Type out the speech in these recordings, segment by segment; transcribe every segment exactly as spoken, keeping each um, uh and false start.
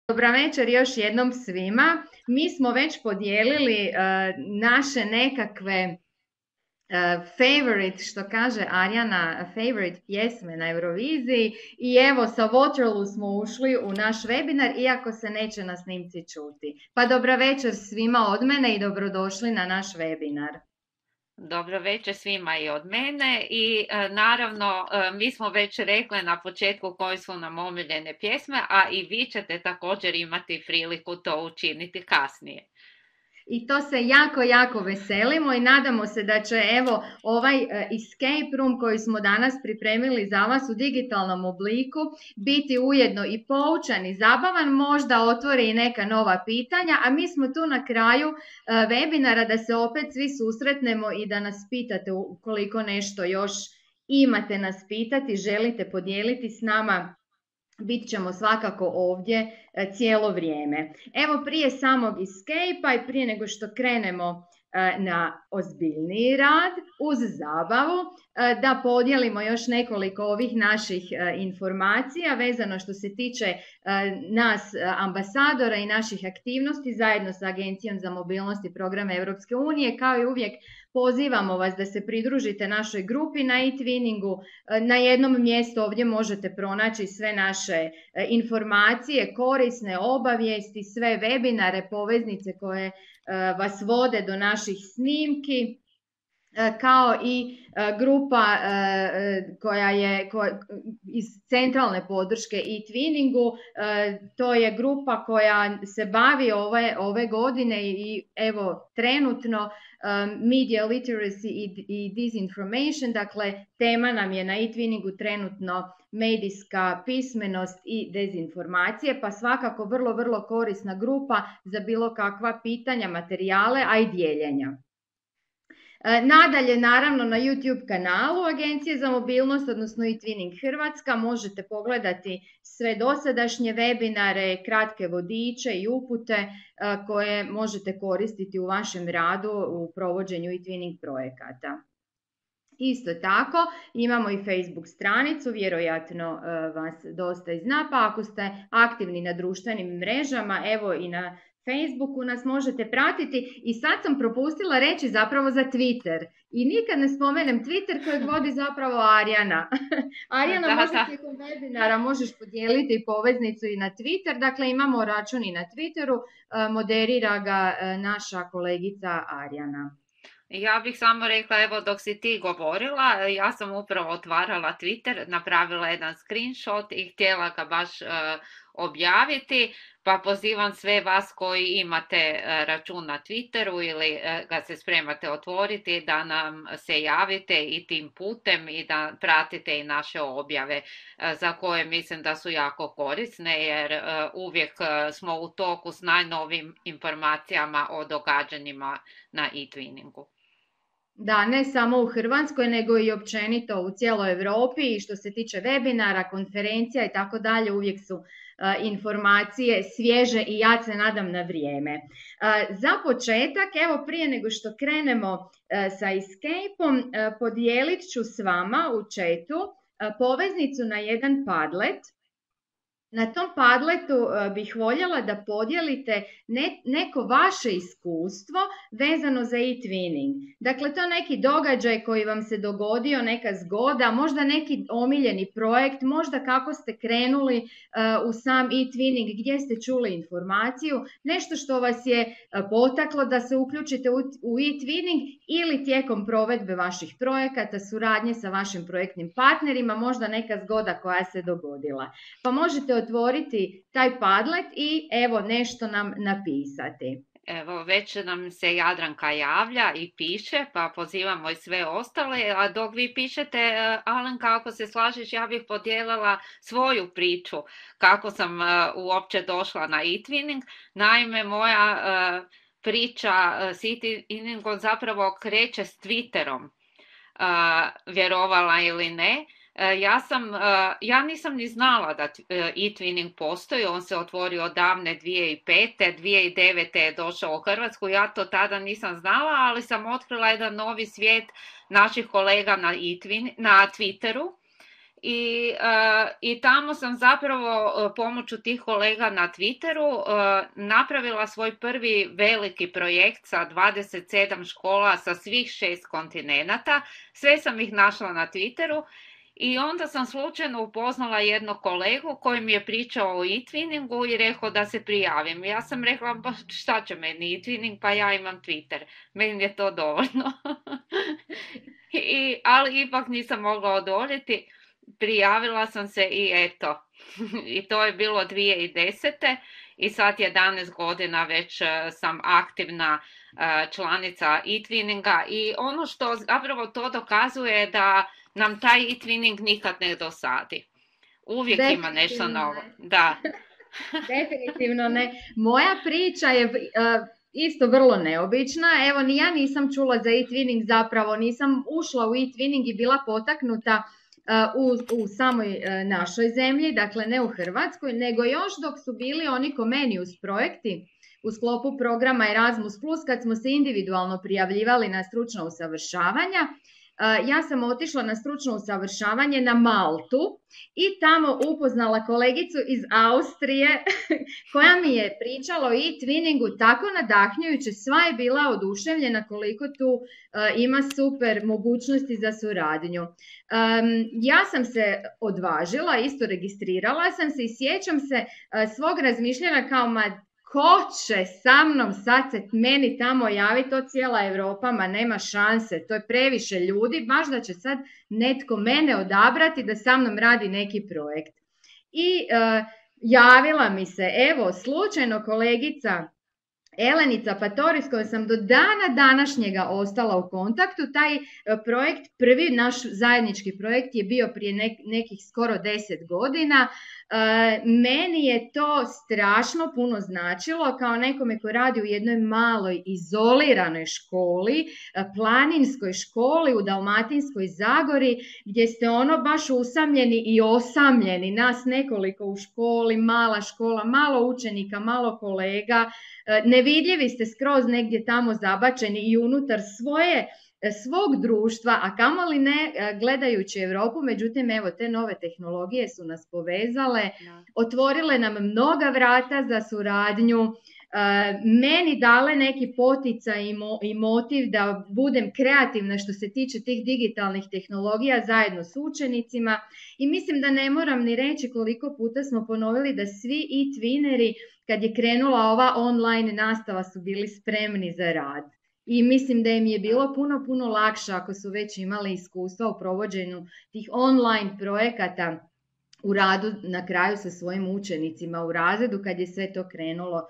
Dobra večer još jednom svima. Mi smo već podijelili uh, naše nekakve uh, favorite, što kaže Arjana, favorite pjesme na Euroviziji i evo sa Waterloo smo ušli u naš webinar, iako se neće na snimci čuti. Pa dobra večer svima od mene i dobrodošli na naš webinar. Dobro večer svima i od mene i e, naravno e, mi smo već rekli na početku koje su nam omiljene pjesme, a i vi ćete također imati priliku to učiniti kasnije. I to se jako, jako veselimo i nadamo se da će evo ovaj escape room koji smo danas pripremili za vas u digitalnom obliku biti ujedno i poučan i zabavan, možda otvori i neka nova pitanja, a mi smo tu na kraju webinara da se opet svi susretnemo i da nas pitate ukoliko nešto još imate nas pitati, želite podijeliti s nama. Bit ćemo svakako ovdje cijelo vrijeme. Evo prije samog escape-a i prije nego što krenemo na ozbiljniji rad, uz zabavu, da podijelimo još nekoliko ovih naših informacija vezano što se tiče nas ambasadora i naših aktivnosti zajedno sa Agencijom za mobilnost i programe Europske unije. Kao i uvijek pozivamo vas da se pridružite našoj grupi na e-twinningu. Na jednom mjestu ovdje možete pronaći sve naše informacije, korisne obavijesti, sve webinare, poveznice koje vas vode do naših snimki, kao i grupa koja je iz centralne podrške e-twinningu. To je grupa koja se bavi ove, ove godine i evo trenutno media literacy i, i disinformation, dakle tema nam je na e-twinningu trenutno medijska pismenost i dezinformacije, pa svakako vrlo, vrlo korisna grupa za bilo kakva pitanja, materijale, a i dijeljenja. Nadalje, naravno, na YouTube kanalu Agencije za mobilnost, odnosno e-twinning Hrvatska, možete pogledati sve dosadašnje webinare, kratke vodiče i upute koje možete koristiti u vašem radu u provođenju e-twinning projekata. Isto tako, imamo i Facebook stranicu, vjerojatno vas dosta i zna, pa ako ste aktivni na društvenim mrežama, evo i na Facebooku nas možete pratiti i sad sam propustila reći zapravo za Twitter i nikad ne spomenem Twitter kojeg vodi zapravo Arjana. Arjana, da, možda tijekom webinara možeš podijeliti poveznicu i na Twitter, dakle imamo račun i na Twitteru, moderira ga naša kolegica Arjana. Ja bih samo rekla, evo dok si ti govorila, ja sam upravo otvarala Twitter, napravila jedan screenshot i htjela ga baš uh, objaviti, pa pozivam sve vas koji imate uh, račun na Twitteru ili uh, ga se spremate otvoriti da nam se javite i tim putem i da pratite i naše objave uh, za koje mislim da su jako korisne jer uh, uvijek uh, smo u toku s najnovim informacijama o događanjima na e-twinningu. Da, ne samo u Hrvatskoj, nego i općenito u cijeloj Europi i što se tiče webinara, konferencija i tako dalje, uvijek su uh, informacije svježe i ja se nadam na vrijeme. Uh, za početak, evo prije nego što krenemo uh, sa escape-om, uh, podijelit ću s vama u chatu uh, poveznicu na jedan Padlet. Na tom Padletu bih voljela da podijelite ne, neko vaše iskustvo vezano za e-twinning. Dakle, to neki događaj koji vam se dogodio, neka zgoda, možda neki omiljeni projekt, možda kako ste krenuli uh, u sam e-twinning, gdje ste čuli informaciju, nešto što vas je uh, potaklo da se uključite u, u e-twinning ili tijekom provedbe vaših projekata, suradnje sa vašim projektnim partnerima, možda neka zgoda koja se dogodila. Pa možete otvoriti taj Padlet i evo nešto nam napisati. Evo, već nam se Jadranka javlja i piše, pa pozivamo i sve ostale, a dok vi pišete, Alenka, ako se slažeš, ja bih podijelila svoju priču, kako sam uh, uopće došla na e-twinning. Naime, moja uh, priča uh, s e-twinningom zapravo kreće s Twitterom, uh, vjerovala ili ne. Ja, sam, ja nisam ni znala da e-twinning postoji, on se otvorio davne dvije tisuće pete. dvije tisuće devete. je došao u Hrvatsku, ja to tada nisam znala, ali sam otkrila jedan novi svijet naših kolega na, e-twin, na Twitteru I, uh, i tamo sam zapravo uh, pomoću tih kolega na Twitteru uh, napravila svoj prvi veliki projekt sa dvadeset sedam škola sa svih šest kontinenata. Sve sam ih našla na Twitteru i onda sam slučajno upoznala jednog kolegu koji mi je pričao o e-twinningu i rekao da se prijavim. Ja sam rekla, ba, šta će meni e-twinning, pa ja imam Twitter. Meni je to dovoljno. I, ali ipak nisam mogla odoljeti. Prijavila sam se i eto, i to je bilo dvije tisuće desete. i sad jedanaest godina već sam aktivna članica e-twinninga i ono što zapravo to dokazuje da nam taj e-twinning nikad ne dosadi. Uvijek ima nešto novo. Da. Definitivno ne. Moja priča je uh, isto vrlo neobična. Evo, ni ja nisam čula za e-twinning, zapravo nisam ušla u e-twinning i bila potaknuta uh, u, u samoj uh, našoj zemlji, dakle ne u Hrvatskoj, nego još dok su bili oni Comenius projekti u sklopu programa Erasmus plus, kad smo se individualno prijavljivali na stručna usavršavanja. Ja sam otišla na stručno usavršavanje na Maltu i tamo upoznala kolegicu iz Austrije koja mi je pričala o e-twinningu tako nadahnjujuće, sva je bila oduševljena koliko tu uh, ima super mogućnosti za suradnju. Um, ja sam se odvažila, isto registrirala sam se i sjećam se uh, svog razmišljanja kao ma ko će sa mnom sad se meni tamo javiti, to cijela Europa, ma nema šanse, to je previše ljudi, baš da će sad netko mene odabrati da sa mnom radi neki projekt. I uh, javila mi se, evo, slučajno kolegica Elenica Patori, s kojom sam do dana današnjega ostala u kontaktu. Taj projekt, prvi naš zajednički projekt je bio prije nek, nekih skoro deset godina. E, meni je to strašno puno značilo kao nekome ko radi u jednoj maloj izoliranoj školi, planinskoj školi u Dalmatinskoj Zagori, gdje ste ono baš usamljeni i osamljeni, nas nekoliko u školi, mala škola, malo učenika, malo kolega, nevidljivi ste skroz negdje tamo zabačeni i unutar svoje, svog društva, a kamoli ne gledajući Europu. Međutim, evo, te nove tehnologije su nas povezale, otvorile nam mnoga vrata za suradnju, meni dale neki poticaj i motiv da budem kreativna što se tiče tih digitalnih tehnologija zajedno s učenicima i mislim da ne moram ni reći koliko puta smo ponovili da svi e-twineri kad je krenula ova online nastava su bili spremni za rad. I mislim da im je bilo puno, puno lakše ako su već imali iskustva u provođenju tih online projekata u radu na kraju sa svojim učenicima u razredu kad je sve to krenulo uh,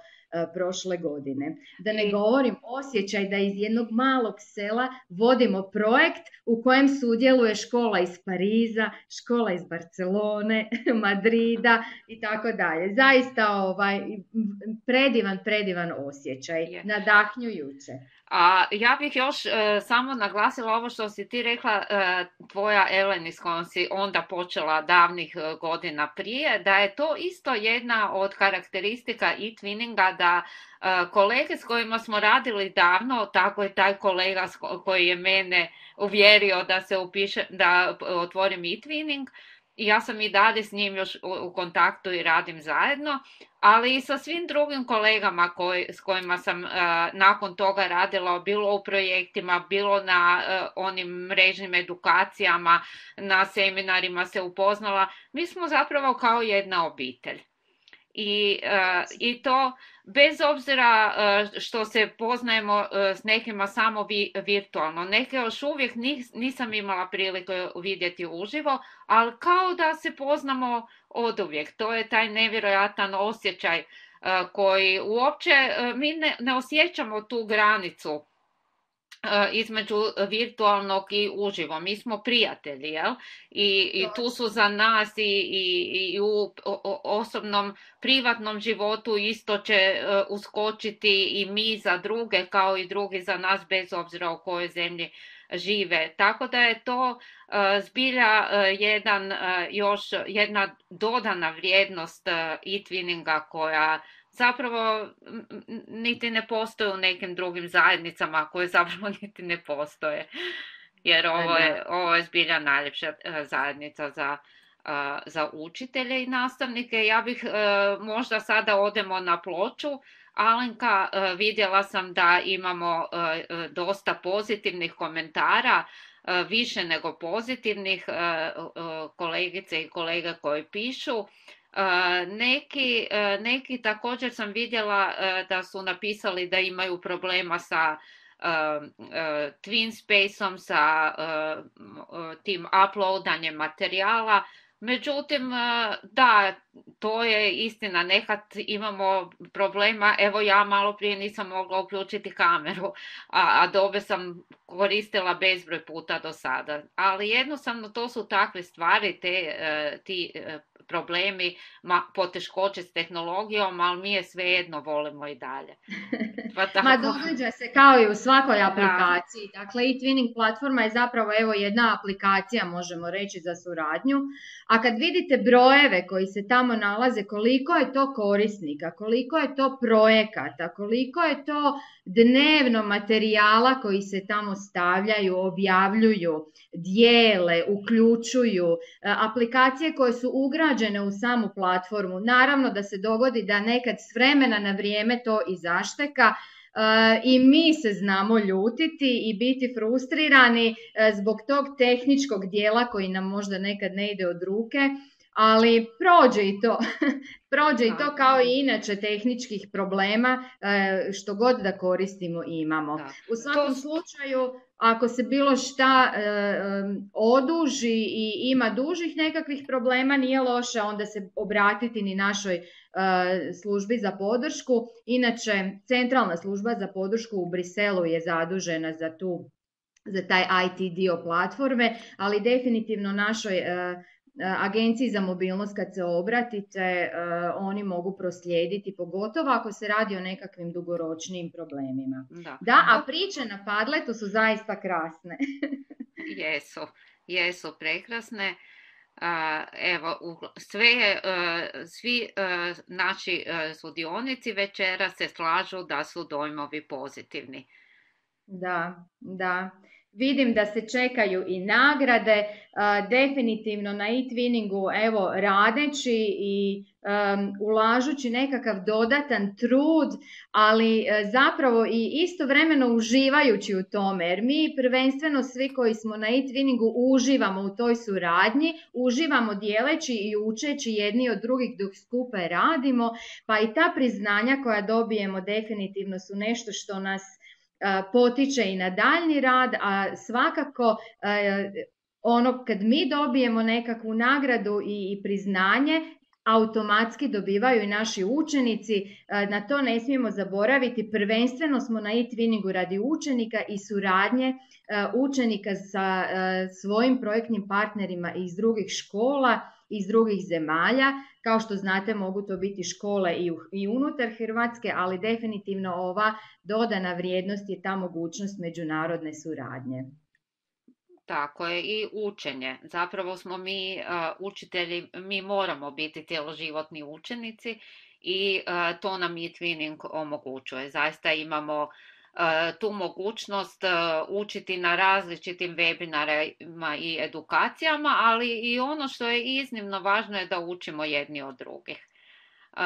prošle godine. Da ne govorim osjećaj da iz jednog malog sela vodimo projekt u kojem sudjeluje škola iz Pariza, škola iz Barcelone, Madrida i tako dalje. Zaista ovaj, predivan, predivan osjećaj, yeah. Nadahnjujuće. A ja bih još uh, samo naglasila ovo što si ti rekla, uh, tvoja Eleni s kojom si onda počela davnih uh, godina prije, da je to isto jedna od karakteristika e-twinninga, da uh, kolege s kojima smo radili davno, tako je taj kolega koji je mene uvjerio da se upiše, da otvorim e-twinning, i ja sam i dalje s njim još u kontaktu i radim zajedno, ali i sa svim drugim kolegama koji, s kojima sam uh, nakon toga radila, bilo u projektima, bilo na uh, onim mrežnim edukacijama, na seminarima se upoznala. Mi smo zapravo kao jedna obitelj. I, uh, i to bez obzira uh, što se poznajemo uh, s nekima samo vi, virtualno. Neke još uvijek nis, nisam imala prilike vidjeti uživo, ali kao da se poznamo oduvijek. To je taj nevjerojatan osjećaj uh, koji uopće uh, mi ne, ne osjećamo tu granicu između virtualnog i uživo. Mi smo prijatelji, jel? I, i tu su za nas i, i, i u osobnom privatnom životu isto će uskočiti i mi za druge kao i drugi za nas bez obzira u kojoj zemlji žive. Tako da je to uh, zbilja uh, jedan, uh, još jedna dodana vrijednost uh, e-twinninga koja zapravo niti ne postoje u nekim drugim zajednicama koje zapravo niti ne postoje. Jer ovo je, ovo je zbilja najljepša zajednica za za učitelje i nastavnike. Ja bih možda sada odemo na ploču. Alenka, vidjela sam da imamo dosta pozitivnih komentara, više nego pozitivnih, kolegice i kolega koji pišu. Neki, neki također sam vidjela da su napisali da imaju problema sa TwinSpaceom, sa tim uploadanjem materijala. Međutim, da, to je istina, nekad imamo problema, evo ja malo prije nisam mogla uključiti kameru, a Adobe sam koristila bezbroj puta do sada, ali jednostavno to su takve stvari, te, ti problemi, poteškoće s tehnologijom, ali mi je svejedno volimo i dalje. Pa tako... Ma događa se kao i u svakoj aplikaciji. Da. Dakle, e-twinning platforma je zapravo evo jedna aplikacija, možemo reći, za suradnju. A kad vidite brojeve koji se tamo nalaze, koliko je to korisnika, koliko je to projekata, koliko je to dnevno materijala koji se tamo stavljaju, objavljuju, dijele, uključuju, aplikacije koje su ugrađene u samu platformu. Naravno da se dogodi da nekad s vremena na vrijeme to i zašteka, i mi se znamo ljutiti i biti frustrirani zbog tog tehničkog dijela koji nam možda nekad ne ide od ruke, ali prođe i to. Prođe i to kao i inače tehničkih problema, što god da koristimo i imamo. Da. U svakom slučaju, ako se bilo šta e, oduži i ima dužih nekakvih problema, nije loše onda se obratiti ni našoj e, službi za podršku. Inače, centralna služba za podršku u Briselu je zadužena za, tu, za taj I T dio platforme, ali definitivno našoj e, Agenciji za mobilnost kad se obratite, uh, oni mogu proslijediti, pogotovo ako se radi o nekakvim dugoročnijim problemima. Da, da, a priče na Padletu su zaista krasne. Jesu, jesu prekrasne. Uh, evo, sve, uh, svi uh, naši uh, sudionici večera se slažu da su dojmovi pozitivni. Da, da. Vidim da se čekaju i nagrade, uh, definitivno na e-twinningu, evo, radeći i um, ulažući nekakav dodatan trud, ali uh, zapravo i istovremeno uživajući u tome, jer mi prvenstveno svi koji smo na e-twinningu uživamo u toj suradnji, uživamo dijeleći i učeći jedni od drugih dok skupa radimo, pa i ta priznanja koja dobijemo definitivno su nešto što nas potiče i na daljnji rad, a svakako ono kad mi dobijemo nekakvu nagradu i, i priznanje, automatski dobivaju i naši učenici, na to ne smijemo zaboraviti, prvenstveno smo na e-twinningu radi učenika i suradnje učenika sa svojim projektnim partnerima iz drugih škola, iz drugih zemalja. Kao što znate, mogu to biti škole i, u, i unutar Hrvatske, ali definitivno ova dodana vrijednost je ta mogućnost međunarodne suradnje. Tako je, i učenje. Zapravo smo mi uh, učitelji, mi moramo biti cjeloživotni učenici i uh, to nam e-twinning omogućuje. Zaista imamo uh, tu mogućnost uh, učiti na različitim webinarima i edukacijama, ali i ono što je iznimno važno je da učimo jedni od drugih. Uh,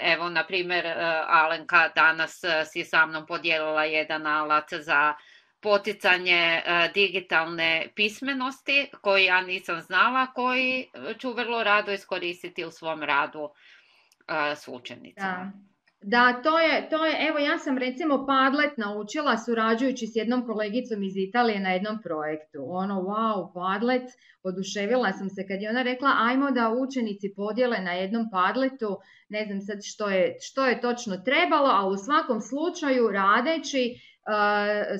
evo, na primjer, uh, Alenka danas uh, si sa mnom podijelila jedan alat za poticanje uh, digitalne pismenosti koji ja nisam znala, koji ću vrlo rado iskoristiti u svom radu uh, s učenicima. Da. Da, to je, to je, evo ja sam recimo Padlet naučila surađujući s jednom kolegicom iz Italije na jednom projektu. Ono, wow, Padlet, oduševila sam se kad je ona rekla ajmo da učenici podijele na jednom Padletu, ne znam sad što je, što je točno trebalo, a u svakom slučaju radeći, Uh,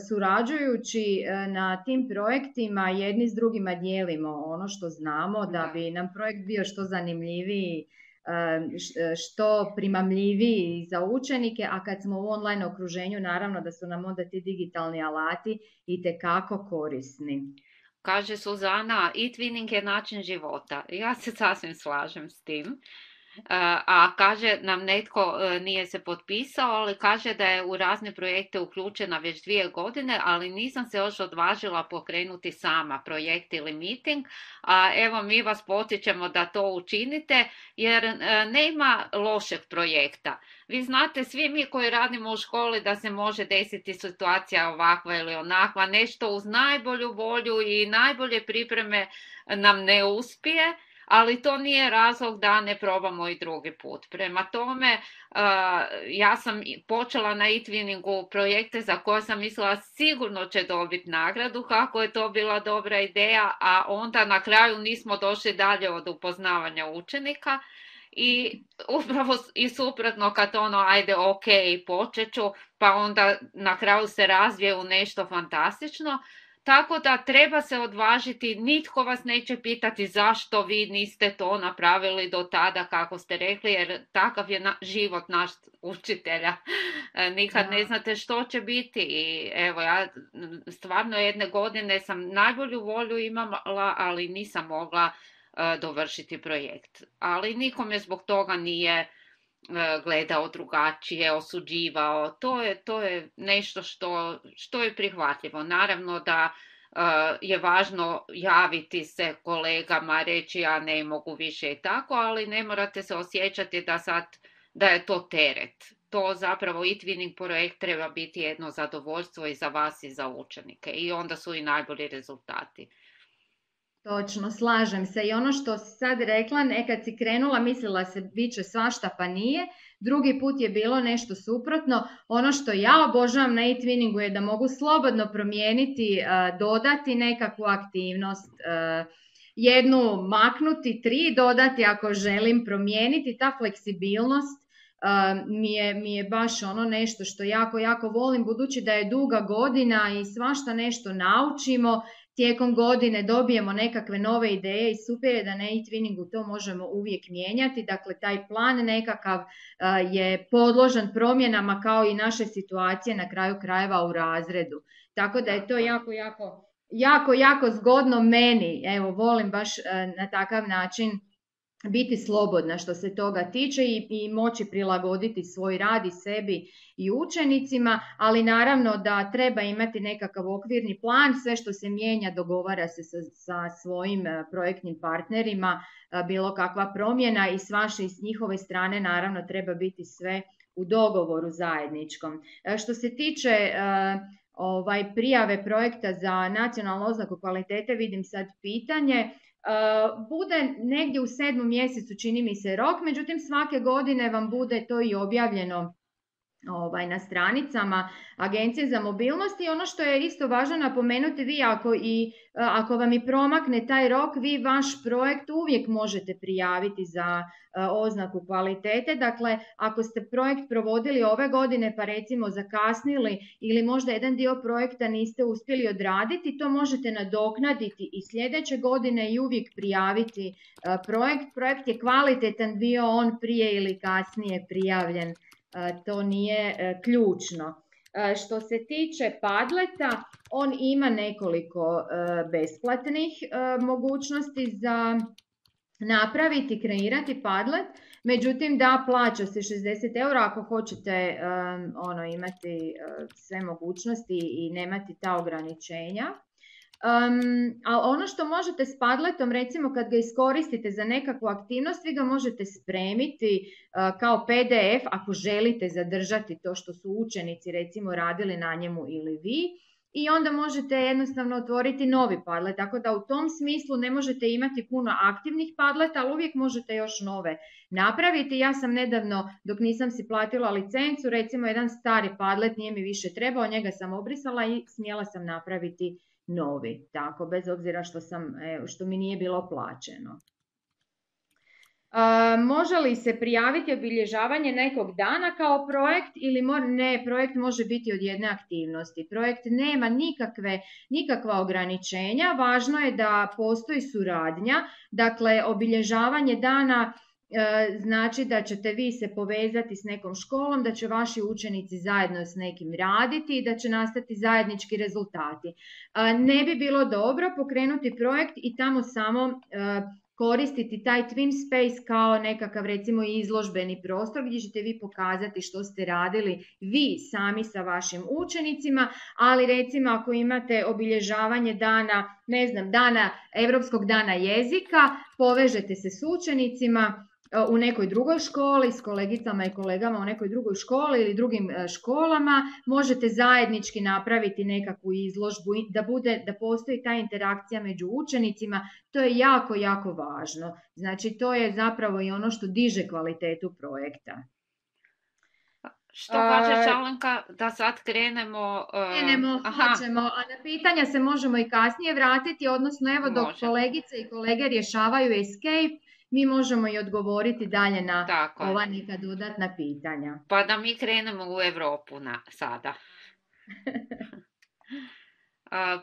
surađujući uh, na tim projektima jedni s drugima dijelimo ono što znamo da bi nam projekt bio što zanimljiviji, uh, što primamljiviji za učenike, a kad smo u online okruženju naravno da su nam onda ti digitalni alati itekako korisni. Kaže Suzana, e-twinning je način života. Ja se sasvim slažem s tim. a kaže nam netko nije se potpisao, ali kaže da je u razne projekte uključena već dvije godine, ali nisam se još odvažila pokrenuti sama projekt ili meeting, a evo mi vas potičemo da to učinite, jer nema lošeg projekta. Vi znate, svi mi koji radimo u školi, da se može desiti situacija ovakva ili onakva, nešto uz najbolju volju i najbolje pripreme nam ne uspije, ali to nije razlog da ne probamo i drugi put. Prema tome, ja sam počela na e-twinningu projekte za koje sam mislila sigurno će dobiti nagradu, kako je to bila dobra ideja, a onda na kraju nismo došli dalje od upoznavanja učenika. I upravo i suprotno, kad ono, ajde, ok, počet ću, pa onda na kraju se razvije u nešto fantastično. Tako da treba se odvažiti, nitko vas neće pitati zašto vi niste to napravili do tada kako ste rekli, jer takav je na, život naš učitelja. Nikad ne znate što će biti i evo ja stvarno jedne godine sam najbolju volju imala, ali nisam mogla uh, dovršiti projekt. Ali nikome zbog toga nije uh, gledao drugačije, osuđivao. To je, to je nešto što, što je prihvatljivo. Naravno da uh, je važno javiti se kolegama, reći ja ne mogu više i tako, ali ne morate se osjećati da sad da je to teret. To zapravo e-twinning projekt treba biti jedno zadovoljstvo i za vas i za učenike i onda su i najbolji rezultati. Točno, slažem se. I ono što si sad rekla, nekad si krenula, mislila se bit će svašta pa nije, drugi put je bilo nešto suprotno. Ono što ja obožavam na e-twinningu je da mogu slobodno promijeniti, dodati nekakvu aktivnost, jednu maknuti, tri dodati ako želim promijeniti. Ta fleksibilnost mi je, mi je baš ono nešto što jako, jako volim, budući da je duga godina i svašta nešto naučimo. Tijekom godine dobijemo nekakve nove ideje i super je da na e-twinningu to možemo uvijek mijenjati. Dakle, taj plan nekakav je podložan promjenama kao i naše situacije na kraju krajeva u razredu. Tako da je to jako, jako, jako, jako zgodno meni. Evo, volim baš na takav način biti slobodna što se toga tiče i, i moći prilagoditi svoj rad i sebi i učenicima, ali naravno da treba imati nekakav okvirni plan, sve što se mijenja dogovara se sa, sa svojim projektnim partnerima, bilo kakva promjena i s vaše i s njihove strane naravno treba biti sve u dogovoru zajedničkom. Što se tiče ovaj, prijave projekta za nacionalnu oznaku kvalitete, vidim sad pitanje. Bude negdje u sedmom mjesecu, čini mi se, rok, međutim svake godine vam bude to i objavljeno ovaj, na stranicama Agencije za mobilnost. I ono što je isto važno napomenuti, vi ako, i, ako vam i promakne taj rok, vi vaš projekt uvijek možete prijaviti za oznaku kvalitete. Dakle, ako ste projekt provodili ove godine pa recimo zakasnili ili možda jedan dio projekta niste uspjeli odraditi, to možete nadoknaditi i sljedeće godine i uvijek prijaviti projekt. Projekt je kvalitetan, bio on prije ili kasnije prijavljen. To nije ključno. Što se tiče Padleta, on ima nekoliko besplatnih mogućnosti za napraviti, kreirati Padlet, međutim da, plaća se šezdeset eura ako hoćete ono, imati sve mogućnosti i nemati ta ograničenja. Um, a ono što možete s Padletom, recimo kad ga iskoristite za nekakvu aktivnost, vi ga možete spremiti uh, kao P D F ako želite zadržati to što su učenici recimo radili na njemu ili vi, i onda možete jednostavno otvoriti novi Padlet, tako da u tom smislu ne možete imati puno aktivnih Padleta, ali uvijek možete još nove napraviti. Ja sam nedavno, dok nisam si platila licencu, recimo jedan stari Padlet nije mi više trebao, njega sam obrisala i smjela sam napraviti novi, tako, bez obzira što, sam, što mi nije bilo plaćeno. A, može li se prijaviti obilježavanje nekog dana kao projekt ili ne, projekt može biti od jedne aktivnosti. Projekt nema nikakve, nikakva ograničenja, važno je da postoji suradnja, dakle obilježavanje dana znači da ćete vi se povezati s nekom školom, da će vaši učenici zajedno s nekim raditi i da će nastati zajednički rezultati. Ne bi bilo dobro pokrenuti projekt i tamo samo koristiti taj Twin Space kao nekakav recimo izložbeni prostor gdje ćete vi pokazati što ste radili vi sami sa vašim učenicima, ali recimo ako imate obilježavanje dana, ne znam, dana, Europskog dana jezika, povežete se s učenicima u nekoj drugoj školi, s kolegicama i kolegama u nekoj drugoj školi ili drugim školama, možete zajednički napraviti nekakvu izložbu, da bude, da postoji ta interakcija među učenicima, to je jako, jako važno. Znači, to je zapravo i ono što diže kvalitetu projekta. Što kažeš, Alenka, da sad krenemo? Uh, krenemo, hoćemo, a na pitanja se možemo i kasnije vratiti, odnosno evo dok Može. kolegice i kolege rješavaju escape, mi možemo i odgovoriti dalje na Tako ova je. neka dodatna pitanja. Pa da mi krenemo u Europu na, sada.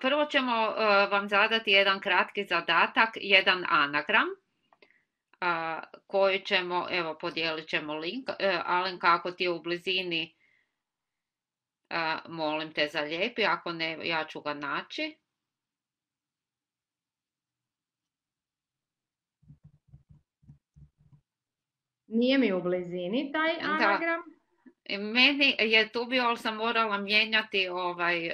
Prvo ćemo vam zadati jedan kratki zadatak, jedan anagram, koji ćemo, evo podijelit ćemo link. Alenka, ako ti je u blizini, molim te zalijepi, ako ne, ja ću ga naći. Nije mi u blizini taj anagram. Da. Meni je tu bio, ali sam morala mijenjati ovaj uh,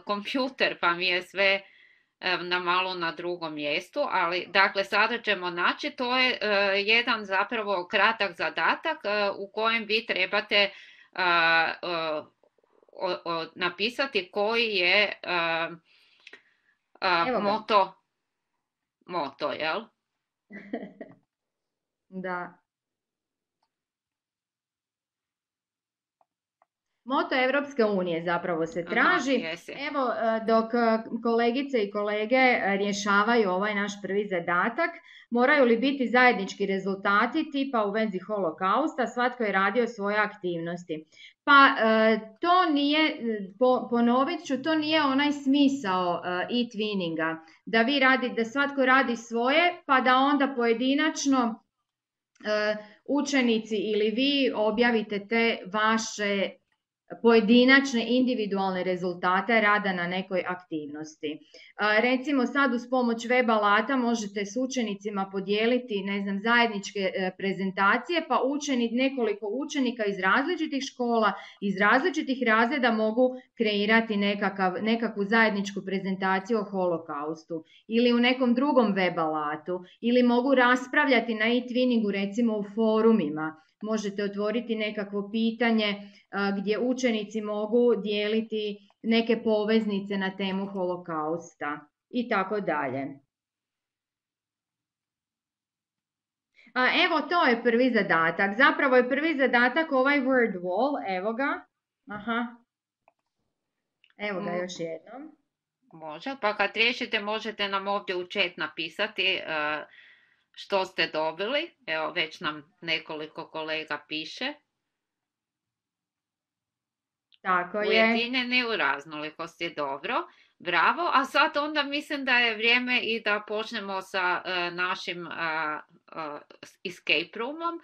kompjuter, pa mi je sve uh, na malo na drugom mjestu, ali dakle sada ćemo naći, to je uh, jedan zapravo kratak zadatak uh, u kojem vi trebate uh, uh, uh, uh, napisati koji je uh, uh, moto, moto, jel? Da. Moto Europske unije zapravo se traži. Aha, Evo, dok kolegice i kolege rješavaju ovaj naš prvi zadatak, moraju li biti zajednički rezultati tipa u vezi holokausta, svatko je radio svoje aktivnosti. Pa to nije, ponovit ću, to nije onaj smisao e-twinninga, da vi radi, da svatko radi svoje, pa da onda pojedinačno učenici ili vi objavite te vaše pojedinačne individualne rezultate rada na nekoj aktivnosti. Recimo sad uz pomoć web alata možete s učenicima podijeliti, ne znam, zajedničke prezentacije, pa učeni, nekoliko učenika iz različitih škola, iz različitih razreda mogu kreirati nekakav, nekakvu zajedničku prezentaciju o holokaustu ili u nekom drugom web alatu, ili mogu raspravljati na e-twinningu recimo u forumima. Možete otvoriti nekakvo pitanje gdje učenici mogu dijeliti neke poveznice na temu holokausta i tako dalje. Evo, to je prvi zadatak. Zapravo je prvi zadatak ovaj word wall, evo ga. Aha. Evo ga još jednom. Može, pa kad riješite možete nam ovdje u chat napisati uh, što ste dobili. Evo, već nam nekoliko kolega piše. Tako je. Ujedinjeni u raznolikosti je dobro. Bravo. A sad onda mislim da je vrijeme i da počnemo sa uh, našim uh, uh, escape roomom.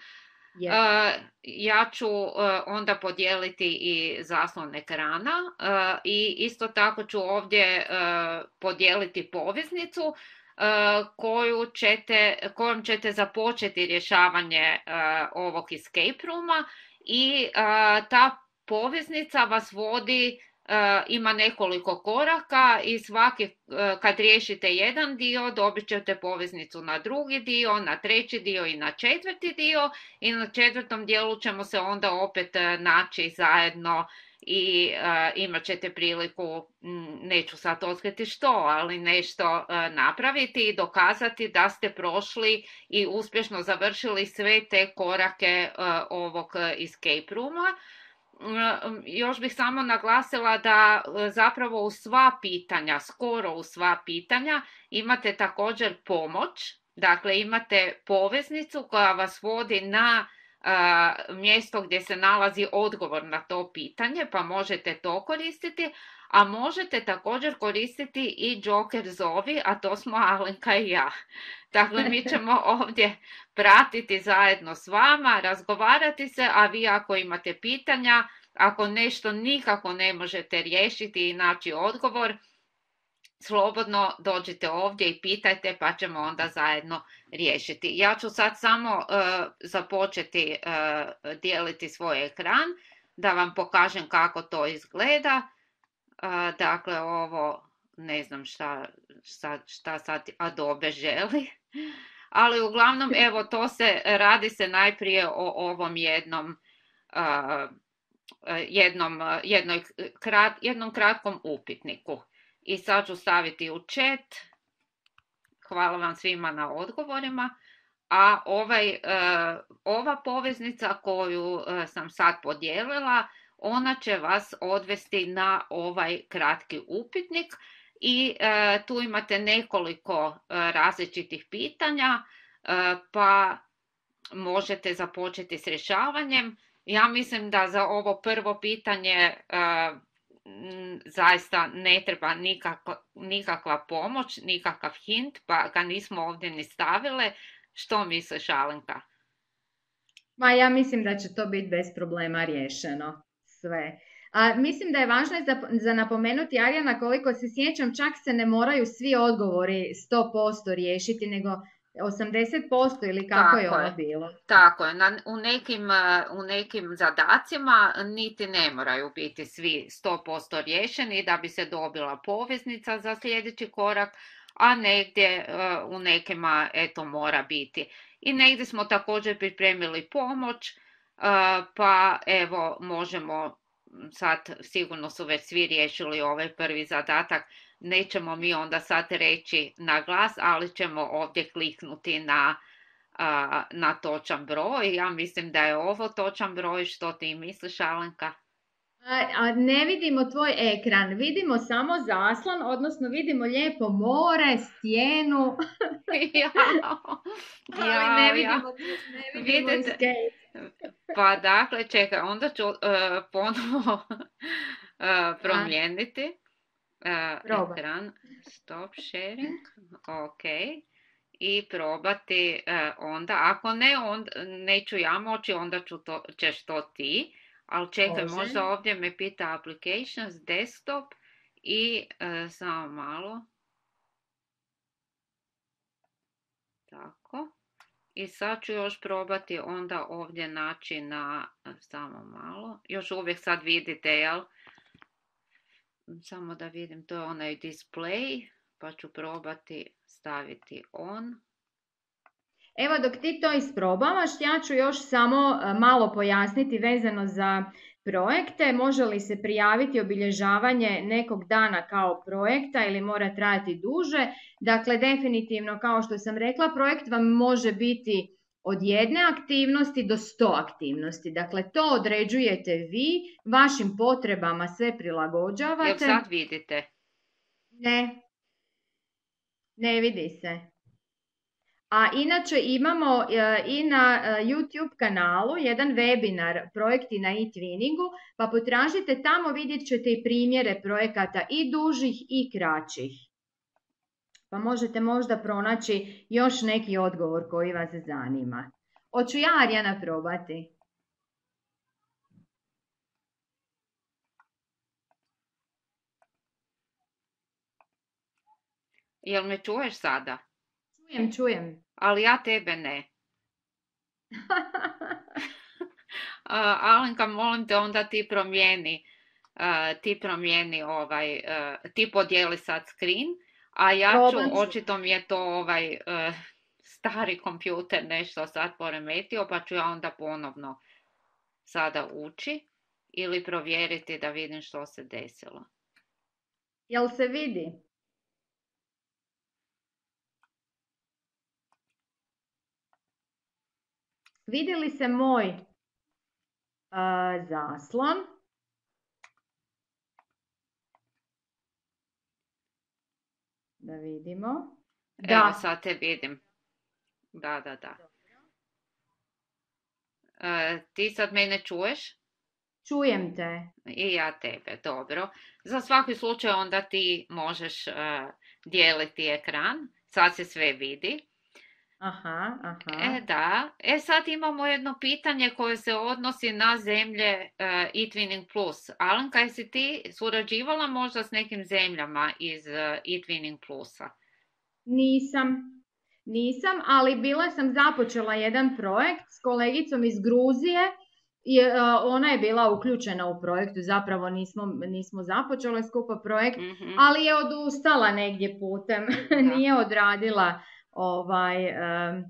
Yes. Uh, ja ću uh, onda podijeliti i zaslon ekrana uh, i isto tako ću ovdje uh, podijeliti poveznicu uh, koju ćete, kojom ćete započeti rješavanje uh, ovog escape rooma i uh, ta poveznica vas vodi, uh, ima nekoliko koraka i svaki, uh, kad riješite jedan dio, dobit ćete poveznicu na drugi dio, na treći dio i na četvrti dio i na četvrtom dijelu ćemo se onda opet uh, naći zajedno i uh, imat ćete priliku, m, neću sad otkriti što, ali nešto uh, napraviti i dokazati da ste prošli i uspješno završili sve te korake uh, ovog escape rooma. Još bih samo naglasila da zapravo u sva pitanja, skoro u sva pitanja, imate također pomoć, dakle imate poveznicu koja vas vodi na uh, mjesto gdje se nalazi odgovor na to pitanje, pa možete to koristiti, a možete također koristiti i Joker zovi, a to smo Alenka i ja. Dakle, mi ćemo ovdje pratiti zajedno s vama, razgovarati se, a vi ako imate pitanja, ako nešto nikako ne možete riješiti i naći odgovor, slobodno dođite ovdje i pitajte, pa ćemo onda zajedno riješiti. Ja ću sad samo uh, započeti uh, dijeliti svoj ekran, da vam pokažem kako to izgleda. Uh, dakle, ovo, ne znam šta, šta, šta sad Adobe želi, ali uglavnom, evo, to se, radi se najprije o ovom jednom, uh, jednom, jednoj, krat, jednom kratkom upitniku. I sad ću staviti u chat. Hvala vam svima na odgovorima. A ovaj, uh, ova poveznica koju uh, sam sad podijelila, ona će vas odvesti na ovaj kratki upitnik i uh, tu imate nekoliko uh, različitih pitanja, uh, pa možete započeti s rješavanjem. Ja mislim da za ovo prvo pitanje uh, zaista ne treba nikakva, nikakva pomoć, nikakav hint, pa ga nismo ovdje ni stavile. Što misliš, Alenka? Ma ja mislim da će to biti bez problema riješeno sve. A, mislim da je važno za, za napomenuti, Arijana, koliko se sjećam, čak se ne moraju svi odgovori sto posto riješiti, nego osamdeset posto ili kako Tako je ono je. bilo? Tako je. Na, u, nekim, u nekim zadacima niti ne moraju biti svi sto posto riješeni da bi se dobila poveznica za sljedeći korak, a negdje uh, u nekima eto mora biti. I negdje smo također pripremili pomoć, uh, pa evo možemo sad, sigurno su već svi riješili ovaj prvi zadatak, nećemo mi onda sad reći na glas, ali ćemo ovdje kliknuti na, uh, na točan broj. Ja mislim da je ovo točan broj. Što ti misliš, Alenka? A ne vidimo tvoj ekran, vidimo samo zaslon, odnosno vidimo lijepo more, stijenu. ja, ja, ne vidimo, ne vidimo vidite, pa dakle, čekaj, onda ću uh, ponovo uh, promijeniti uh, ekran, stop sharing, ok, i probati uh, onda, ako ne, onda neću ja moći, onda ću to, ćeš to ti. Ali čekaj, Može. možda ovdje me pita applications, desktop i uh, samo malo. Tako. I sad ću još probati onda ovdje naći na, samo malo. Još uvijek sad vidite, jel? Samo da vidim, to je onaj display, pa ću probati staviti on. Evo dok ti to isprobavaš, ja ću još samo malo pojasniti vezano za projekte. Može li se prijaviti obilježavanje nekog dana kao projekta ili mora trajati duže? Dakle, definitivno, kao što sam rekla, projekt vam može biti od jedne aktivnosti do sto aktivnosti. Dakle, to određujete vi, vašim potrebama sve prilagođavate. Jel sad vidite? Ne, ne vidi se. A inače imamo i na YouTube kanalu jedan webinar projekti na e-twinningu, pa potražite tamo, vidjet ćete i primjere projekata i dužih i kraćih. Pa možete možda pronaći još neki odgovor koji vas zanima. Hoću ja, Arijana, probati. Jel me čuješ sada? Čujem, čujem. Ali ja tebe ne. uh, Alenka, molim te, onda ti promijeni, uh, ti promijeni ovaj, uh, ti podijeli sad screen, a ja ću, očito mi je to ovaj uh, stari kompjuter nešto sad poremetio, pa ću ja onda ponovno sada ući ili provjeriti da vidim što se desilo. Jel se vidi? Vidi li se moj uh, zaslon? Da vidimo. Da. Evo, sad te vidim. Da, da, da. Uh, ti sad mene čuješ? Čujem te. I ja tebe, dobro. Za svaki slučaj onda ti možeš uh, dijeliti ekran. Sad se sve vidi. Aha, E aha. da, e sad imamo jedno pitanje koje se odnosi na zemlje uh, eTwinning Plus. Alenka, jesi ti surađivala možda s nekim zemljama iz uh, eTwinning Plusa? Nisam, nisam, ali bila sam započela jedan projekt s kolegicom iz Gruzije i e, ona je bila uključena u projektu, zapravo nismo, nismo započele skupa projekt, Mhm, ali je odustala negdje putem, da. nije odradila ovaj e,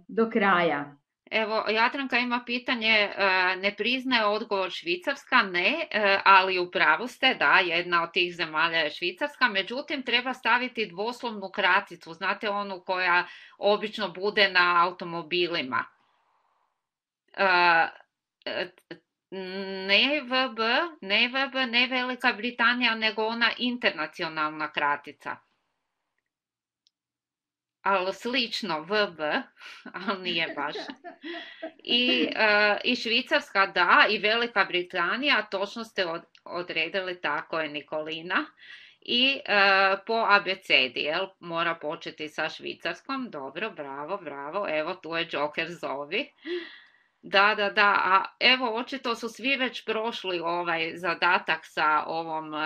do kraja. Evo, Jadranka ima pitanje, e, ne priznaje odgovor Švicarska, ne, e, ali u pravu ste, da, jedna od tih zemalja je Švicarska, međutim treba staviti dvoslovnu kraticu, znate onu koja obično bude na automobilima. E, e, Ne V B, ne V B, ne Velika Britanija, nego ona internacionalna kratica. Ali slično V B, ali nije baš. I, uh, I Švicarska da, i Velika Britanija, točno ste od, odredili, tako je Nikolina. I uh, po abecedi, jel, mora početi sa Švicarskom, dobro, bravo, bravo, evo tu je Joker zovi. Da, da, da, a evo očito su svi već prošli ovaj zadatak sa ovom uh,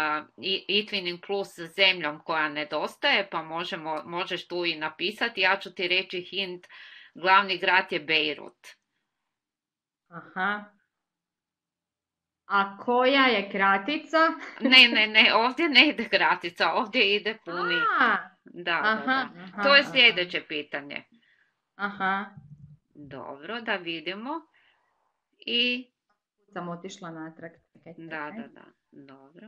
eTwinning Plus zemljom koja nedostaje, pa možemo, možeš tu i napisati, ja ću ti reći hint, glavni grad je Beirut. Aha. A koja je kratica? Ne, ne, ne, ovdje ne ide kratica, ovdje ide puni. A, Da, da, aha, da. aha, To je aha. sljedeće pitanje. Aha. Dobro, da vidimo. I, Sam otišla natrag. Čekaj, da, čekaj. da, da, dobro.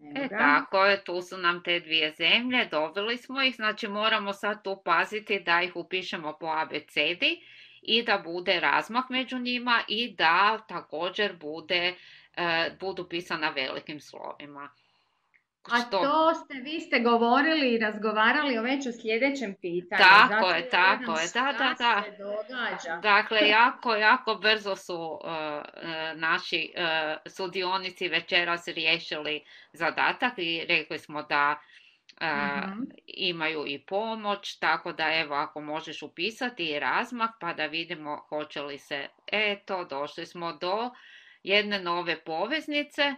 Evo E ga. tako je, tu su nam te dvije zemlje, dobili smo ih, znači moramo sad tu paziti da ih upišemo po abecedi i da bude razmak među njima i da također bude, e, budu pisana velikim slovima. A Što? to ste, vi ste govorili i razgovarali o već o sljedećem pitanju. Tako Zato je, ja gledam tako je, da, da, šta da. se događa. Dakle, jako, jako brzo su uh, uh, naši uh, sudionici večeras riješili zadatak i rekli smo da uh, Mhm. imaju i pomoć, tako da evo ako možeš upisati i razmak pa da vidimo hoće li se, eto, došli smo do jedne nove poveznice.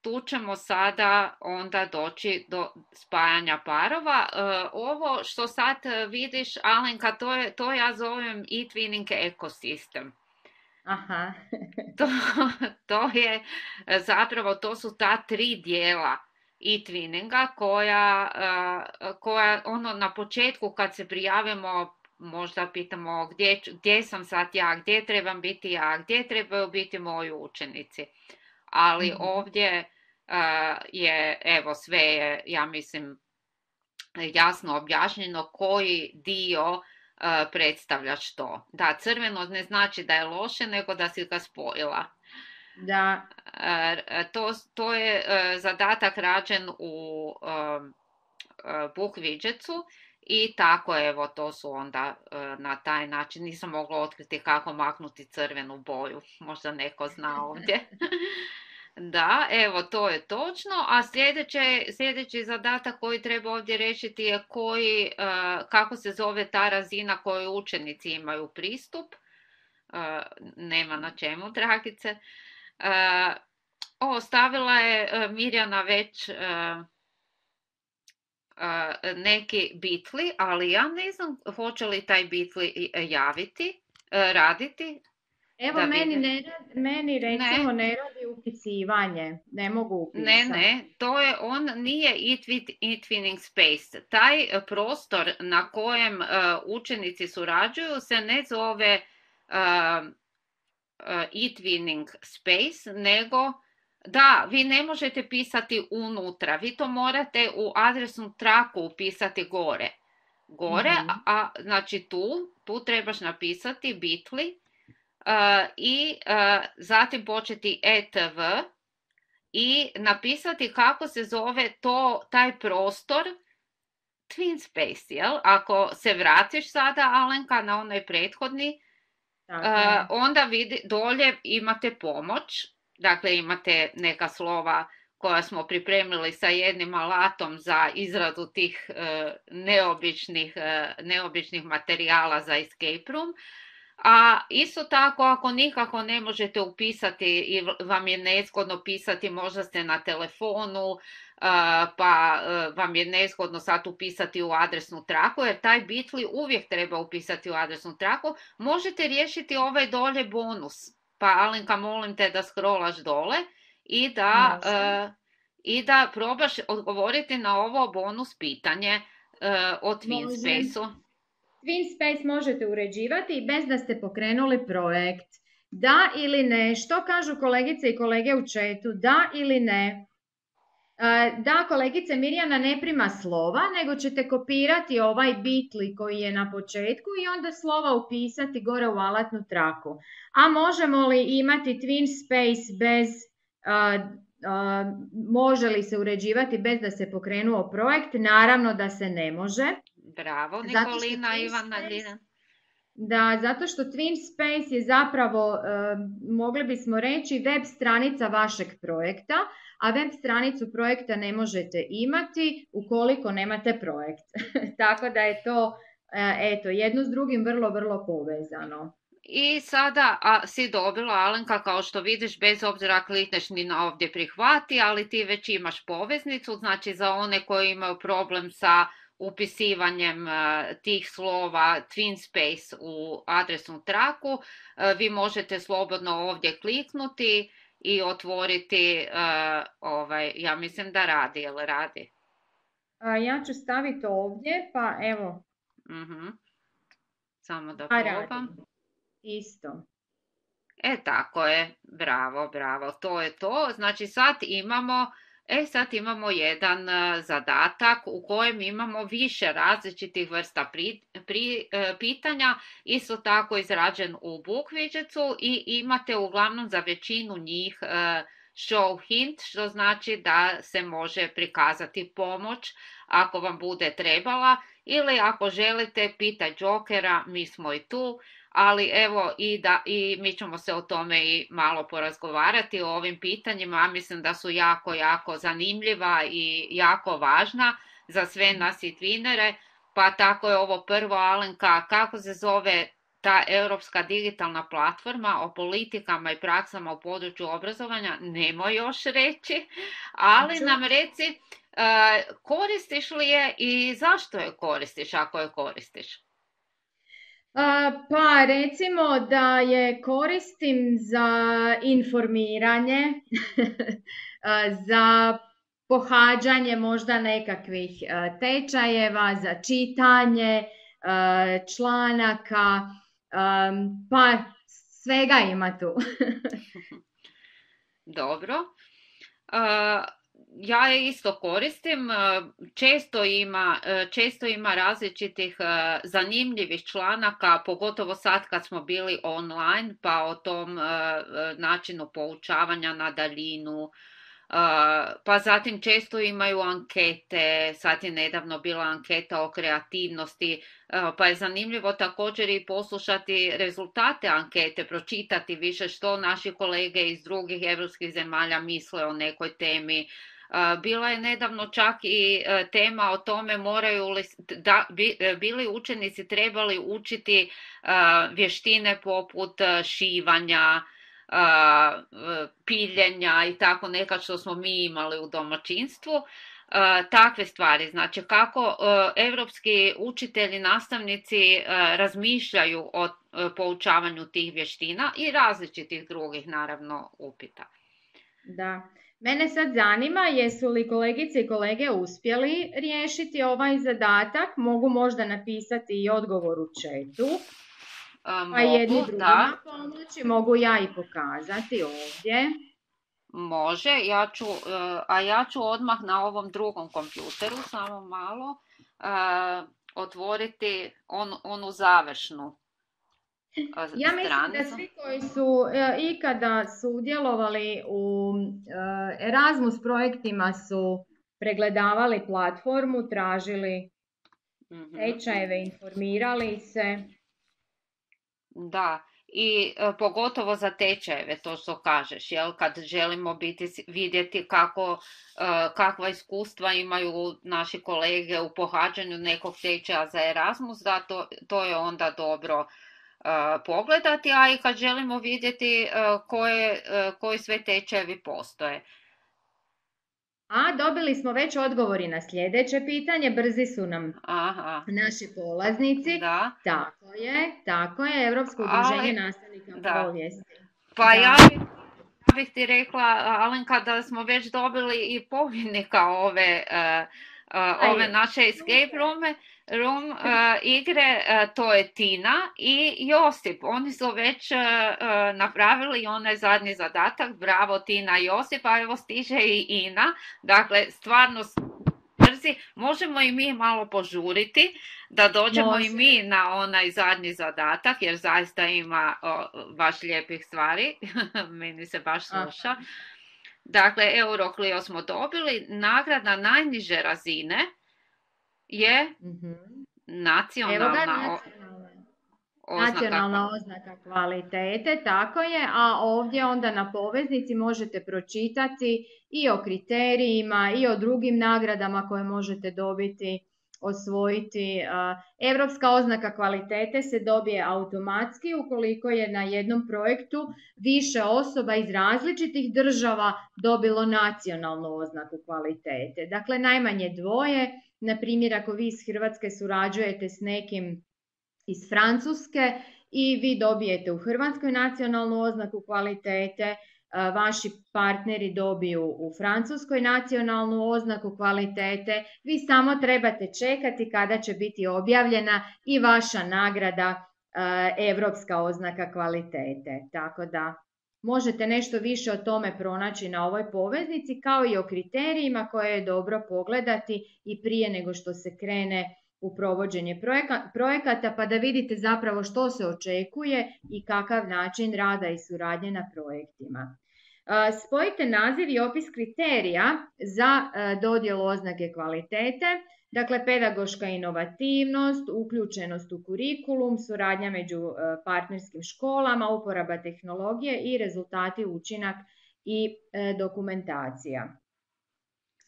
Tu ćemo sada onda doći do spajanja parova. E, ovo što sad vidiš, Alenka, to, je, to ja zovem eTwinning ekosistem. Aha. To, to je zapravo, to su ta tri dijela eTwinninga koja, koja ono na početku kad se prijavimo možda pitamo gdje, gdje sam sad ja, gdje trebam biti ja, gdje trebaju biti moji učenici. Ali Mhm. ovdje uh, je, evo, sve je, ja mislim, jasno objašnjeno koji dio uh, predstavlja što. Da, crveno ne znači da je loše, nego da si ga spojila. Da. Uh, to, to je uh, zadatak rađen u uh, uh, book widgetsu i tako, evo, to su onda uh, na taj način. Nisam mogla otkriti kako maknuti crvenu boju. Možda neko zna ovdje. Da, evo, to je točno, a sljedeće, sljedeći zadatak koji treba ovdje rešiti je koji, uh, kako se zove ta razina koju učenici imaju pristup. Uh, nema na čemu, dragice. Uh, o, stavila je uh, Mirjana već uh, uh, neki bitli, ali ja ne znam hoće li taj bitli javiti, uh, raditi. Evo, meni, ne, meni recimo ne, ne radi upisivanje, ne mogu upisati. Ne, ne, to je, on nije eTwinning Space. Taj prostor na kojem uh, učenici surađuju se ne zove uh, uh, eTwinning Space, nego da, vi ne možete pisati unutra, vi to morate u adresnu traku upisati gore. Gore, mm-hmm. a, a znači tu, tu trebaš napisati bitli uh, i uh, zatim početi etv i napisati kako se zove to, taj prostor TwinSpace, jel? Ako se vratiš sada, Alenka, na onaj prethodni, uh, onda vidi, dolje imate pomoć, dakle imate neka slova koja smo pripremili sa jednim alatom za izradu tih e, neobičnih, e, neobičnih materijala za escape room. A isto tako, ako nikako ne možete upisati i vam je nezgodno pisati, možda ste na telefonu, pa vam je nezgodno sad upisati u adresnu traku, jer taj Bitly uvijek treba upisati u adresnu traku, možete riješiti ovaj dolje bonus. Pa Alenka, molim te da scrollaš dole i da, uh, i da probaš odgovoriti na ovo bonus pitanje uh, o TwinSpace-u. TwinSpace možete uređivati bez da ste pokrenuli projekt. Da ili ne? Što kažu kolegice i kolege u chatu? Da ili ne? Da, kolegice Mirjana ne prima slova, nego ćete kopirati ovaj Bitly koji je na početku i onda slova upisati gore u alatnu traku. A možemo li imati TwinSpace bez, uh, uh, može li se uređivati bez da se pokrenuo projekt? Naravno da se ne može. Bravo, Nikolina, Ivana, Da, zato što TwinSpace je zapravo, uh, mogli bismo reći, web stranica vašeg projekta, a web stranicu projekta ne možete imati ukoliko nemate projekt. Tako da je to, eto, jedno s drugim vrlo, vrlo povezano. I sada a, si dobila, Alenka, kao što vidiš, bez obzira klikneš ni na ovdje prihvati, ali ti već imaš poveznicu, znači za one koji imaju problem sa upisivanjem uh, tih slova TwinSpace u adresnu traku, uh, vi možete slobodno ovdje kliknuti i otvoriti, uh, ovaj, ja mislim da radi, jel radi? A, ja ću staviti ovdje, pa evo. Uh-huh. Samo da probam. Radi. Isto. E, tako je, bravo, bravo, to je to. Znači sad imamo, e, sad imamo jedan uh, zadatak u kojem imamo više različitih vrsta pri, pri, uh, pitanja, isto tako izrađen u book widgetsu i imate uglavnom za većinu njih uh, show hint, što znači da se može prikazati pomoć ako vam bude trebala, ili ako želite pitaj Jokera, mi smo i tu. Ali evo i, da, i mi ćemo se o tome i malo porazgovarati o ovim pitanjima, a mislim da su jako, jako zanimljiva i jako važna za sve nas i twinere, pa tako je ovo prvo, Alenka, kako se zove ta europska digitalna platforma o politikama i praksama u području obrazovanja, nemoj još reći, ali nam reci koristiš li je i zašto je koristiš ako je koristiš? Pa recimo da je koristim za informiranje, za pohađanje možda nekakvih tečajeva, za čitanje članaka, pa svega ima tu. Dobro. Uh... Ja je isto koristim, često ima, često ima različitih zanimljivih članaka, pogotovo sad kad smo bili online, pa o tom načinu poučavanja na daljinu, pa zatim često imaju ankete, sad je nedavno bila anketa o kreativnosti, pa je zanimljivo također i poslušati rezultate ankete, pročitati više što naši kolege iz drugih europskih zemalja misle o nekoj temi. Bila je nedavno čak i tema o tome moraju li, da, bili učenici trebali učiti vještine poput šivanja, piljenja i tako nekad što smo mi imali u domaćinstvu. Takve stvari, znači kako evropski učitelji, nastavnici razmišljaju o poučavanju tih vještina i različitih drugih naravno upita. Da. Mene sad zanima, jesu li kolegice i kolege uspjeli riješiti ovaj zadatak? Mogu možda napisati i odgovor u chatu. Um, pa jedni drugima pomoći, mogu ja i pokazati ovdje. Može, ja ću, a ja ću odmah na ovom drugom kompjuteru, samo malo, uh, otvoriti on, onu završnu. Ja mislim da svi koji su e, ikada sudjelovali u e, Erasmus projektima su pregledavali platformu, tražili tečajeve, informirali se. Da, i e, pogotovo za tečajeve, to što kažeš, jel? Kad želimo biti, vidjeti kako, e, kakva iskustva imaju naši kolege u pohađanju nekog tečaja za Erasmus, da to, to je onda dobro e, pogledati, a i kad želimo vidjeti e, koje, e, koji sve tečajevi postoje. A dobili smo već odgovori na sljedeće pitanje, brzi su nam Aha. naši polaznici. Da. Tako je, tako je, Europsko udruženje Ali, nastavnika da. povijesti. Pa Da. ja bih, ja bih ti rekla, Alenka, da smo već dobili i pobjednika ove, uh, uh, ove naše escape room, room uh, igre, uh, to je Tina i Josip. Oni su već uh, uh, napravili onaj zadnji zadatak, bravo Tina i Josip, a evo stiže i Ina, dakle stvarno brzi, možemo i mi malo požuriti da dođemo Može. i mi na onaj zadnji zadatak, jer zaista ima o, baš lijepih stvari, meni se baš sluša. Aha. Dakle, Euroclio smo dobili, nagrada najniže razine je mm-hmm. nacionalna oznaka. Nacionalna oznaka kvalitete, tako je, a ovdje onda na poveznici možete pročitati i o kriterijima i o drugim nagradama koje možete dobiti, osvojiti. Europska oznaka kvalitete se dobije automatski ukoliko je na jednom projektu više osoba iz različitih država dobilo nacionalnu oznaku kvalitete. Dakle, najmanje dvoje, na primjer ako vi iz Hrvatske surađujete s nekim iz Francuske i vi dobijete u Hrvatskoj nacionalnu oznaku kvalitete, vaši partneri dobiju u Francuskoj nacionalnu oznaku kvalitete, vi samo trebate čekati kada će biti objavljena i vaša nagrada Europska oznaka kvalitete. Tako da možete nešto više o tome pronaći na ovoj poveznici, kao i o kriterijima koje je dobro pogledati i prije nego što se krene u provođenje projekata, pa da vidite zapravo što se očekuje i kakav način rada i suradnje na projektima. Spojite naziv i opis kriterija za dodjelu oznake kvalitete, dakle pedagoška inovativnost, uključenost u kurikulum, suradnja među partnerskim školama, uporaba tehnologije i rezultati, učinak i dokumentacija.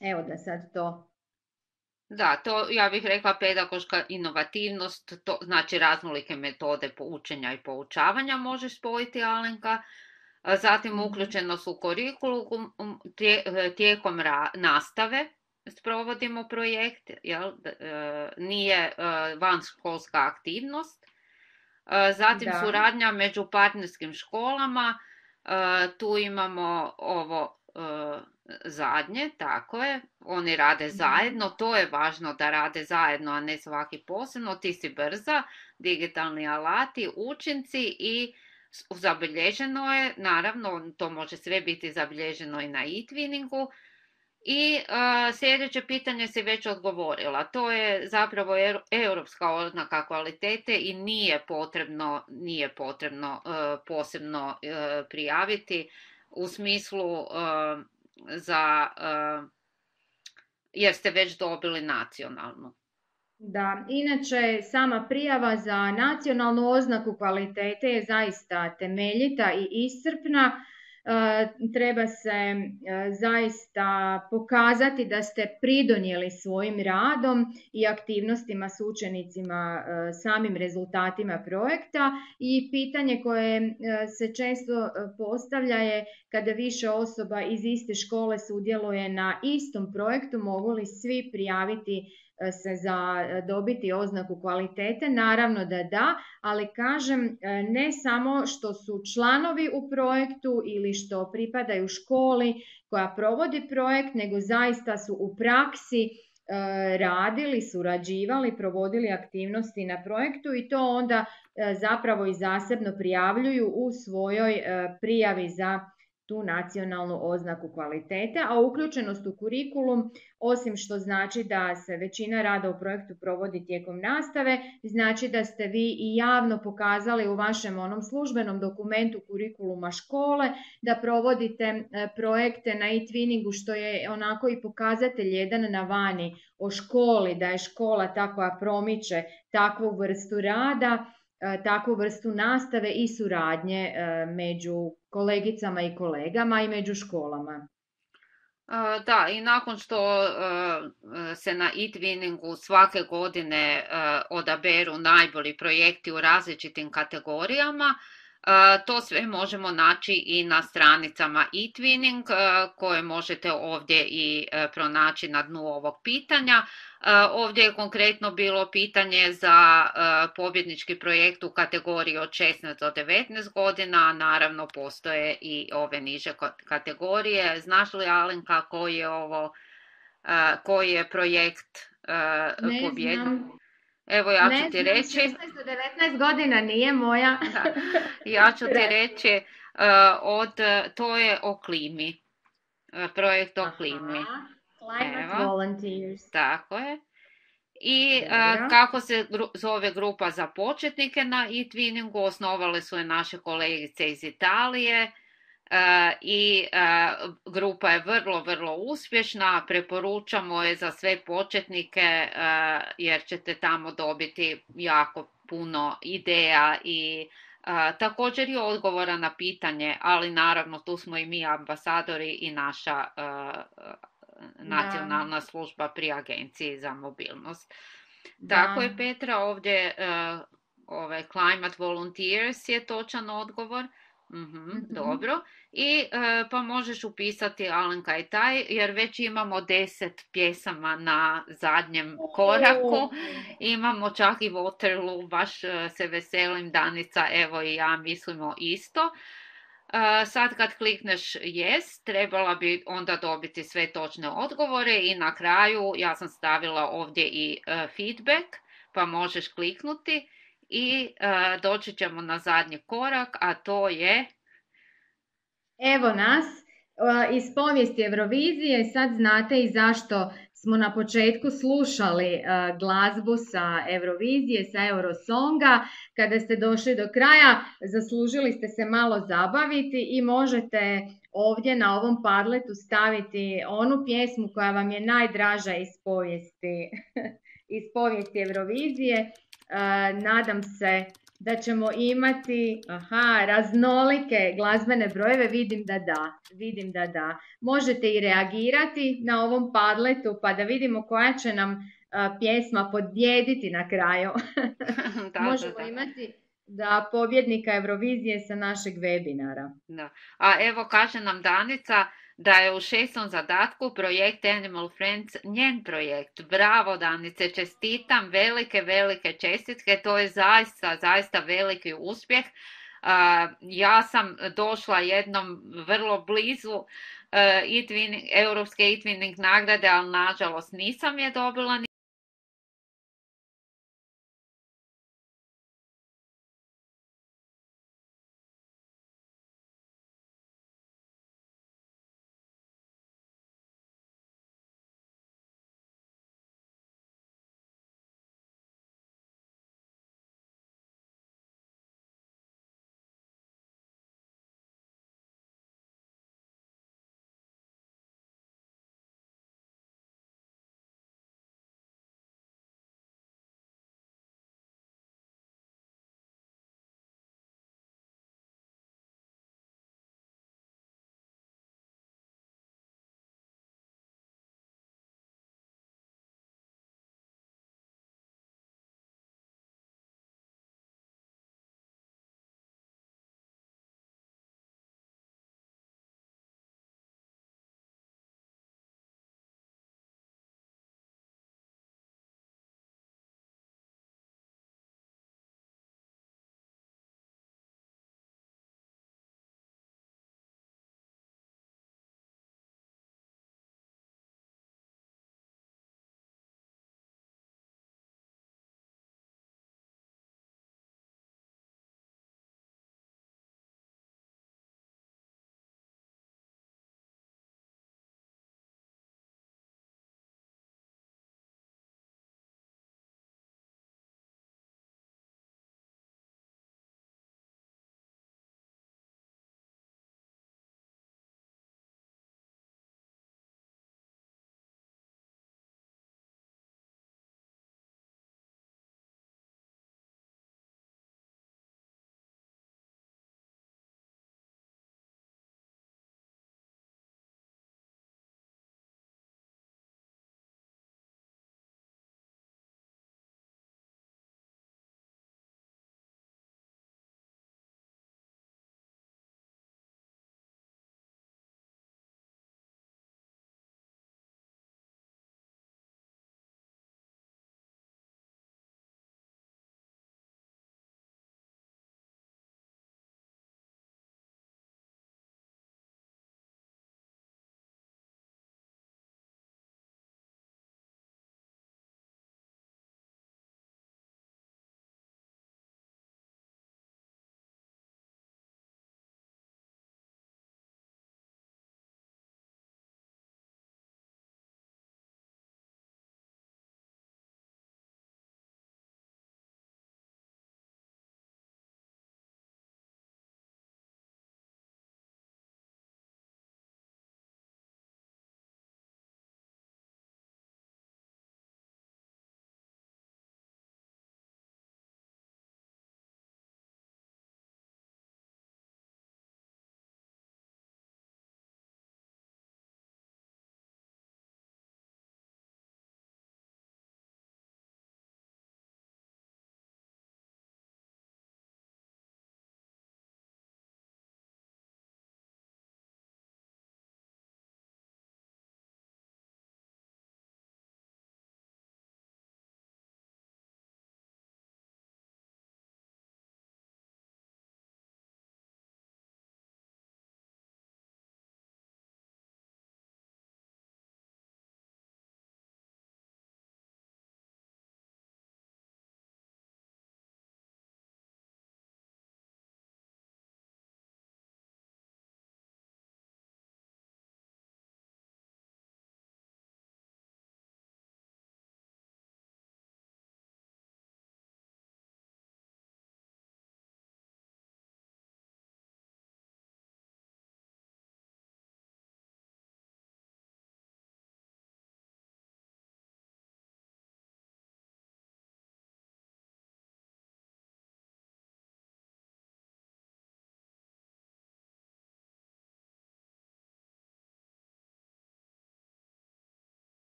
Evo da sad to... Da, to ja bih rekla pedagoška inovativnost, to znači raznolike metode učenja i poučavanja možeš spojiti, Alenka. Zatim uključenost u kurikulum, tijekom nastave sprovodimo projekt, jel? Nije vanškolska aktivnost. Zatim da. Suradnja među partnerskim školama, tu imamo ovo zadnje, tako je, oni rade zajedno, to je važno da rade zajedno, a ne svaki posebno, ti si brza, digitalni alati, učinci i zabilježeno je, naravno, to može sve biti zabilježeno i na e-twinningu. I uh, sljedeće pitanje si već odgovorila, to je zapravo europska oznaka kvalitete i nije potrebno, nije potrebno uh, posebno uh, prijaviti u smislu uh, za, uh, jer ste već dobili nacionalnu. Da, inače sama prijava za nacionalnu oznaku kvalitete je zaista temeljita i iscrpna. E, treba se e, zaista pokazati da ste pridonijeli svojim radom i aktivnostima s učenicima e, samim rezultatima projekta i pitanje koje e, se često postavlja je kada više osoba iz iste škole sudjeluje na istom projektu, mogu li svi prijaviti se za dobiti oznaku kvalitete, naravno da da, ali kažem ne samo što su članovi u projektu ili što pripadaju školi koja provodi projekt, nego zaista su u praksi radili, surađivali, provodili aktivnosti na projektu i to onda zapravo i zasebno prijavljuju u svojoj prijavi za tu nacionalnu oznaku kvalitete, a uključenost u kurikulum, osim što znači da se većina rada u projektu provodi tijekom nastave, znači da ste vi i javno pokazali u vašem onom službenom dokumentu kurikuluma škole da provodite projekte na e-twinningu, što je onako i pokazatelj jedan na vani o školi, da je škola ta koja promiče takvu vrstu rada. takvu vrstu nastave i suradnje među kolegicama i kolegama i među školama. Da, i nakon što se na e-twinningu svake godine odaberu najbolji projekti u različitim kategorijama, to sve možemo naći i na stranicama e-twinning koje možete ovdje i pronaći na dnu ovog pitanja. Ovdje je konkretno bilo pitanje za pobjednički projekt u kategoriji od šesnaest do devetnaest godina, a naravno postoje i ove niže kategorije. Znaš li, Alenka, koji je ovo, koji je projekt pobjednik? Evo, ja ću ti reći... šesnaest do devetnaest godina nije moja. Da. Ja ću ti reći, uh, od, to je o klimi. Projekt o klimi. Aha, Climate Evo. Volunteers. Tako je. I uh, kako se gru, zove grupa za početnike na e-twinningu, osnovale su je naše kolegice iz Italije. Uh, i uh, grupa je vrlo, vrlo uspješna, preporučamo je za sve početnike uh, jer ćete tamo dobiti jako puno ideja i uh, također i odgovora na pitanje, ali naravno tu smo i mi ambasadori i naša uh, nacionalna da. služba pri Agenciji za mobilnost. Da. Tako je, Petra, ovdje uh, ovaj Climate Volunteers je točan odgovor. Mm-hmm, mm-hmm. Dobro. I e, pa možeš upisati, Alenka, i taj, jer već imamo deset pjesama na zadnjem koraku. Imamo čak i Waterloo, baš e, se veselim, Danica, evo i ja mislimo isto. E, sad kad klikneš yes, trebala bi onda dobiti sve točne odgovore i na kraju ja sam stavila ovdje i e, feedback, pa možeš kliknuti. I uh, doći ćemo na zadnji korak, a to je... Evo nas, uh, iz povijesti Eurovizije, sad znate i zašto smo na početku slušali uh, glazbu sa Eurovizije, sa Eurosonga. Kada ste došli do kraja, zaslužili ste se malo zabaviti i možete ovdje na ovom Padletu staviti onu pjesmu koja vam je najdraža iz povijesti, iz povijesti Eurovizije. Uh, nadam se da ćemo imati aha, raznolike glazbene brojeve, vidim da da, vidim da da. Možete i reagirati na ovom Padletu pa da vidimo koja će nam uh, pjesma pobjediti na kraju. da, Možemo da, da. imati da pobjednika Eurovizije sa našeg webinara. Da. A evo kaže nam Danica da je u šestom zadatku projekt Animal Friends njen projekt. Bravo, Danice, čestitam, velike, velike čestitke, to je zaista, zaista veliki uspjeh. Uh, ja sam došla jednom vrlo blizu uh, e-twinning, europske e-twinning nagrade, ali nažalost nisam je dobila.